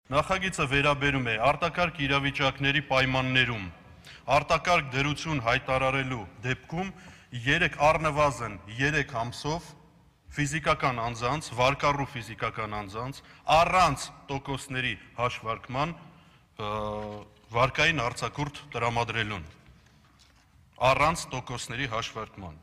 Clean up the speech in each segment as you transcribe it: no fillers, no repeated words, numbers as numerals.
Նախագիծը վերաբերում է արտակարգ իրավիճակների պայմաններում արտակարգ դրություն հայտարարելու դեպքում առնվազն 3 ամսով ֆիզիկական անձանց, վարկառու ֆիզիկական անձանց առանց տոկոսների հաշվարկման վարկային արձակուրդ տրամադրելուն, առանց տոկոսների հաշվարկման։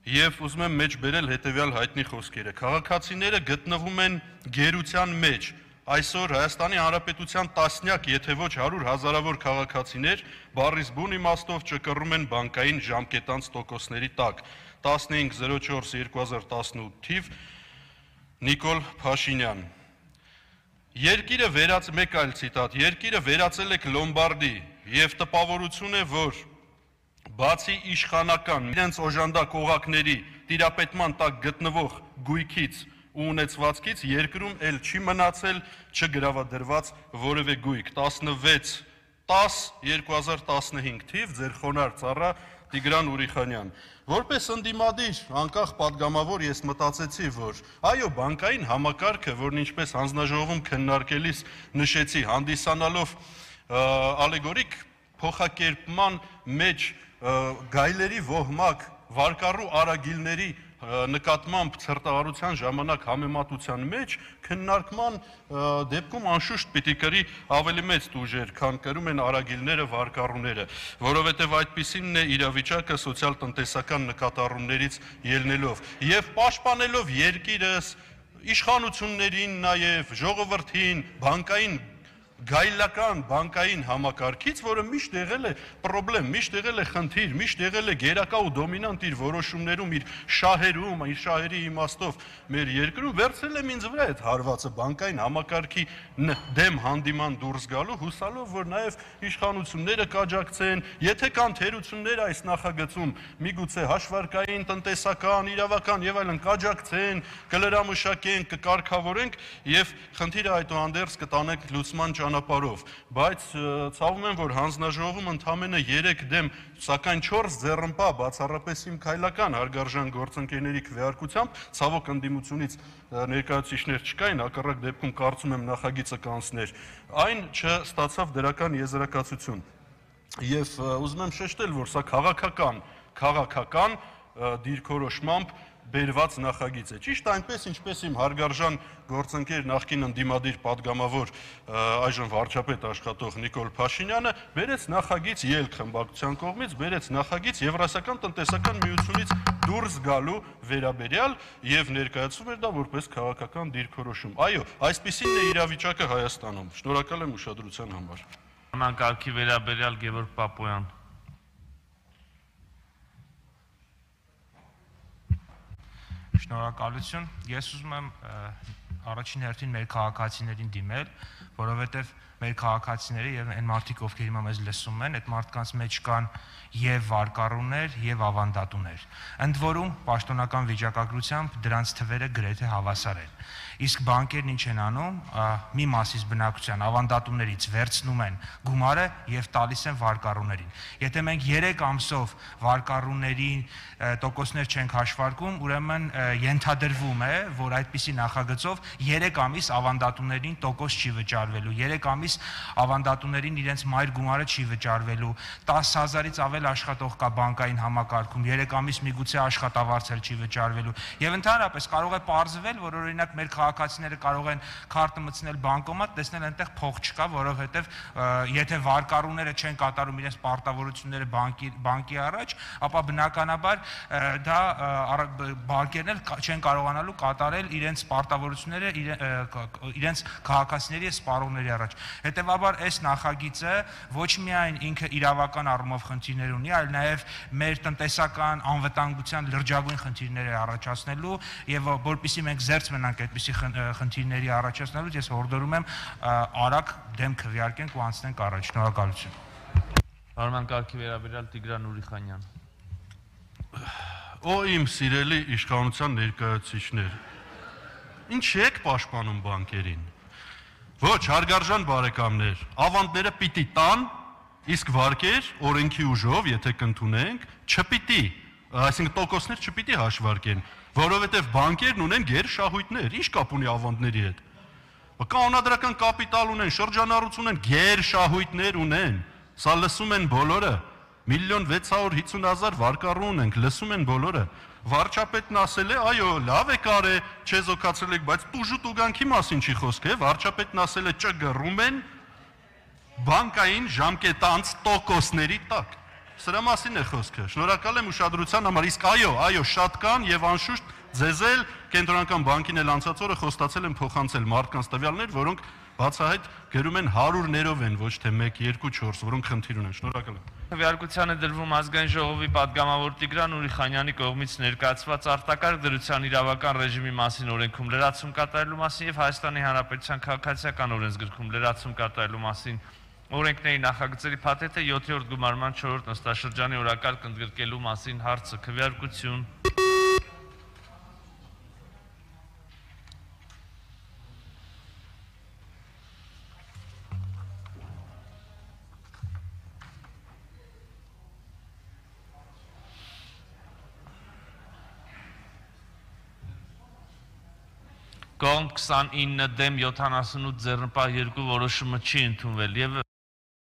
Եվ ուզում եմ մեջ բերել հետևյալ հայտնի խոսքերը. քաղաքացիները գտնվում են գերության մեջ։ Այսօր Հայաստանի Հանրապետության տասնյակ, եթե ոչ 100 հազարավոր քաղաքացիներ բառից բուն իմաստով ճկռում են բանկային ժամկետանց տոկոսների տակ։ 1504/2018 թիվ Նիկոլ Փաշինյան։ Մեկ այլ ցիտատ. Երկիրը վերածել եք Լոմբարդի եւ տպավորություն է, որ բացի իշխանական իրենց օժանդակ օղակների տիրապետման տակ գտնվող գույքից ու ունեցվածքից երկրում էլ չի մնացել չգրավադրված որևէ գույք։ 16/10/2015 թիվ ձեր խոնարհ ծառա Տիգրան Ուրիխանյան։ Որպես ընդդիմադիր անկախ падգամավոր ես մտածեցի, որ այո, բանկային համակարգը, որն ինչպես հանձնաժողովում քննարկելիս նշեցի, հանդիսանալով ալեգորիկ փոխակերպման մեջ գայլերի ոհմակ վարկառու արագիլների նկատմամբ ցրտահարության ժամանակ համեմատության մեջ քննարկման դեպքում անշուշտ պիտի կրի ավելի մեծ տուժեր, քան կրում են արագիլները, վարկառուները, որովհետև այդպիսինն է իրավիճակը սոցիալ-տնտեսական նկատառումներից ելնելով եւ պաշտպանելով երկիրս, իշխանություններին, նաեւ ժողովրդին, բանկային գայլական բանկային համակարգից, որը միշտ եղել է պրոբլեմ, միշտ եղել է խնդիր, միշտ եղել է գերակա ու դոմինանտ իր որոշումներում, իր շահերում, իր շահերի իմաստով մեր երկրում, վերցրել եմ ինձ վրա այդ հարվածը բանկային համակարգի դեմ հանդիման դուրս գալու, հուսալով, որ նաեւ իշխանությունները կաջակցեն, եթե կան թերություններ այս նախագծում, միգուցե հաշվարկային, տնտեսական, իրավական եւ այլն կաջակցեն, կլրամշակեն, կկարգավորենք եւ խնդիրը այդուհանդերձ կտանենք լուծման ճանապարհով, բայց ցավում եմ, որ հանձնաժողովում ընդամենը 3 դեմ, սակայն 4 ձեռնպահ բացառապես իմ քայլական հարգարժան գործընկերների քվեարկությամբ, ցավոք ընդդիմությունից ներկայացուցիչներ չկային, հակառակ դեպքում կարծում եմ նախագիծը կանցներ, այն չստացավ դրական եզրակացություն։ Եվ ուզում եմ շեշտել, որ սա քաղաքական դիրքորոշմամբ բերված նախագիծ է։ Ճիշտ այնպես, ինչպես իմ հարգարժան գործընկեր նախկին ընդդիմադիր падգամավոր այժմ վարչապետ աշխատող Նիկոլ Փաշինյանը բերեց նախագիծ ելք խմբակցության կողմից, բերեց նախագիծ Եվրասիական տնտեսական միությունից դուրս գալու վերաբերյալ եւ ներկայացվում էր դա որպես քաղաքական դիրքորոշում։ Այո, այսպիսին է իրավիճակը Հայաստանում։ Շնորհակալ եմ ուշադրության համար։ Համակարգի վերաբերյալ Գևորգ Պապոյան։ Շնորհակալություն։ Ես ուզում եմ առաջին հերթին մեր քաղաքացիներին դիմել, որովհետև մեր քաղաքացիները եւ այն մարդիկ, ովքեր հիմա մեզ լսում են, այդ մարդկանց մեջ կան եւ վարկառուներ եւ ավանդատուներ։ Ընդ որում, պաշտոնական վիճակագրությամբ դրանց թվերը գրեթե հավասար են։ Իսկ բանկերն ինչ են անում, մի մասից բնակության ավանդատուներից վերցնում են գումարը եւ տալիս են վարկառուներին։ Եթե մենք 3 ամսով վարկառուներին տոկոսներ չենք հաշվարկում, ուրեմն ենթադրվում է, որ այդպիսի նախագծով 3 ամիս ավանդատուներին տոկոս չի վճարվելու, 3 ամիս ավանդատուներին իրենց մայր գումարը չի վճարվելու, 10,000-ից ավել աշխատող կա բանկային համակարգում, 3 ամիս միգուցե աշխատավարձ էլ չի վճարվելու։ Եվ ընդհանրապես կարող է պարզվել, որ օրինակ մեր քաղաքացիները կարող են քարտը մտցնել բանկոմատ, տեսնել այնտեղ փող չկա, որովհետև եթե վարկառուները չեն կատարում իրենց պարտավորությունները բանկի առաջ, ապա բնականաբար դա բանկերն էլ չեն կարողանալու կատարել իրենց պարտավորությունները իրենց քաղաքացիների սպառողների առաջ։ Հետևաբար այս նախագիծը ոչ միայն ինքը իրավական առումով խնդիրներ ունի, այլ նաև մեր տնտեսական անվտանգության լրջագույն խնդիրներ է առաջացնելու եւ որպեսզի մենք զերծ մնանք այդպիսի խնդիրների առաջացնելուց, ես հորդորում եմ արագ դեմ քվեարկենք ու անցնենք առաջ։ Շնորհակալություն։ Համակարգի վերաբերյալ Տիգրան Ուրիխանյան։ Օ իմ սիրելի իշխանության ներկայացուցիչներ, ինչ եք պաշտպանում բանկերին։ Ոչ, հարգարժան բարեկամներ, ավանդները պիտի տան, իսկ վարկեր օրենքի ուժով, եթե կընդունենք, չպիտի, այսինքն տոկոսներ չպիտի հաշվարկեն, որովհետև բանկերն ունեն գերշահույթներ, ինչ կապ ունի ավանդների հետ։ Կանոնադրական կապիտալ ունեն, շրջանառություն ունեն, գերշահույթներ ունեն։ Սա լսում են բոլորը։ 1.650.000 վարկառու ունենք, լսում են բոլորը։ Վարչապետն ասել է, այո, լավ է կարե, չեզոքացրել եք, բայց տուժու տուգանքի մասին չի խոսք, վարչապետն ասել է, չգռում են բանկային ժամկետանց տոկոսների տակ։ Սրա մասին է խոսքը։ Շնորհակալ եմ ուշադրության համար, իսկ այո, շատ կան եւ անշուշտ ձեզ էլ կենտրոնական բանկին էլ անցած օրը խոստացել են փոխանցել մարդկանց տվյալներ, որոնք բացահայտ գրում են հարյուրներով են, ոչ թե 1, 2, 4, որոնք խնդիր ունեն։ Շնորհակալ եմ։ Քվեարկության է դրվում ազգային ժողովի падգամավոր Տիգրան Ուրիխանյանի կողմից ներկայացված արտակարգ դրության իրավական ռեժիմի մասին օրենքում լրացում կատարելու մասին եւ Հայաստանի Հանրապետության քաղաքացիական օրենսգրքում լրացում կատարելու մասին օրենքների նախագծերի փաթեթը 7-րդ գումարման 4-րդ նստաշրջանի օրակարգ ընդգրկելու մասին հարցը քվեարկություն։ Կողմ 29 դեմ 78 ձեռնպահ 2 որոշումը չի ընդունվել եւ